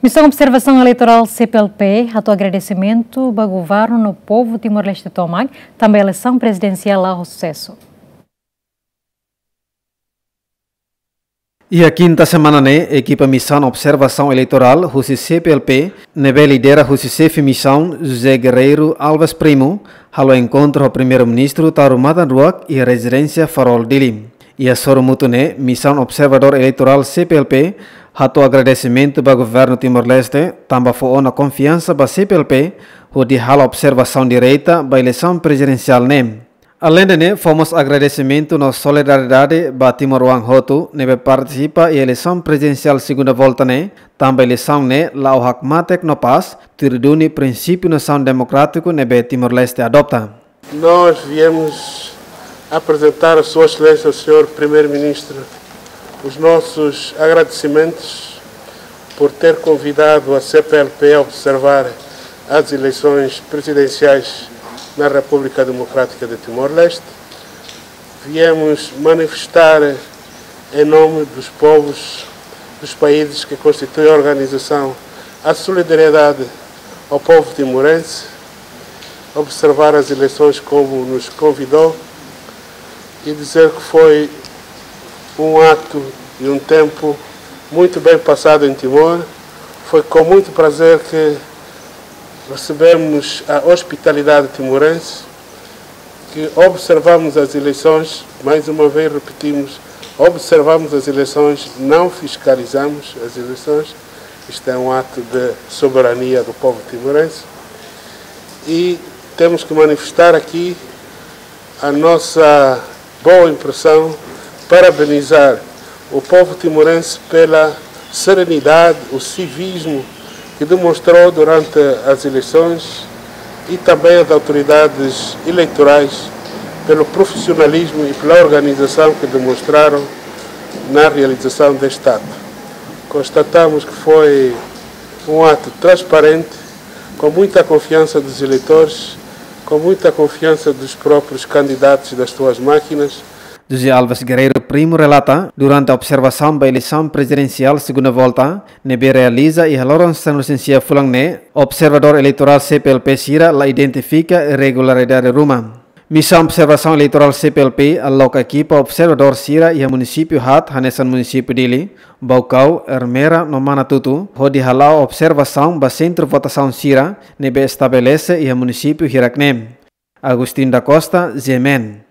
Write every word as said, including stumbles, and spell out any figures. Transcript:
Misaun Observasaun Eleitorál C P L P hato'o agradesimentu ba governu no povu Timor-Leste tomak, tanba eleisaun prezidensiál la'o ho susesu. Iha kinta semana ne'e, ekipa Misaun Observasaun Eleitorál husi C P L P, ne'ebé lidera husi xefe misaun José Guerreiro Alves Primo, halo enkontru ho Primeiru-Ministru Taur Matan Ruak iha rezidénsia Farol Dili. Iha sorumutu ne'e, Misaun Observadór Eleitorál C P L P hato'o agradesimentu ba governu Timor-Leste, tanba fó ona konfiansa ba C P L P hodi halo observasaun direta ba eleisaun prezidensiál ne'e. Aleinde ne'e, fó mós agradesimentu no solidariedade ba timoroan hotu ne'ebé partisipa iha eleisaun prezidensiál segunda volta ne'e, tanba eleisaun ne'e la'o hakmatek no pás, tuir duni prinsípiu nasaun demokrátiku ne'ebé Timor-Leste adopta. Nós viemos apresentar a Sua Excelência, o Senhor Primeiro-Ministro, os nossos agradecimentos por ter convidado a C P L P a observar as eleições presidenciais na República Democrática de Timor-Leste. Viemos manifestar, em nome dos povos dos países que constituem a organização, a solidariedade ao povo timorense, observar as eleições como nos convidou e dizer que foi um ato e um tempo muito bem passado em Timor. Foi com muito prazer que recebemos a hospitalidade timorense, que observamos as eleições, mais uma vez repetimos, observamos as eleições, não fiscalizamos as eleições. Isto é um ato de soberania do povo timorense e temos que manifestar aqui a nossa boa impressão, parabenizar o povo timorense pela serenidade, o civismo que demonstrou durante as eleições e também as autoridades eleitorais pelo profissionalismo e pela organização que demonstraram na realização deste ato. Constatamos que foi um ato transparente, com muita confiança dos eleitores, com muita confiança dos próprios candidatos e das suas máquinas. José Alves Guerreiro Primo relata, durante observasaun ba eleisaun prezidensiál segunda volta ne'ebé realiza iha loron sanulu-resin-sia fulan ne'e, observadór eleitorál C P L P sira la identifika irregularidade ruma. Misaun Observasaun Eleitorál C P L P aloka ekipa observadór sira iha munisípiu haat hanesan munisípiu Dili, Baucau, Ermera no Manatuto, hodi hala'o observasaun ba sentru votasaun sira ne'ebé estabelese iha munisípiu hirak-ne'e. Agustin da Costa, G M N.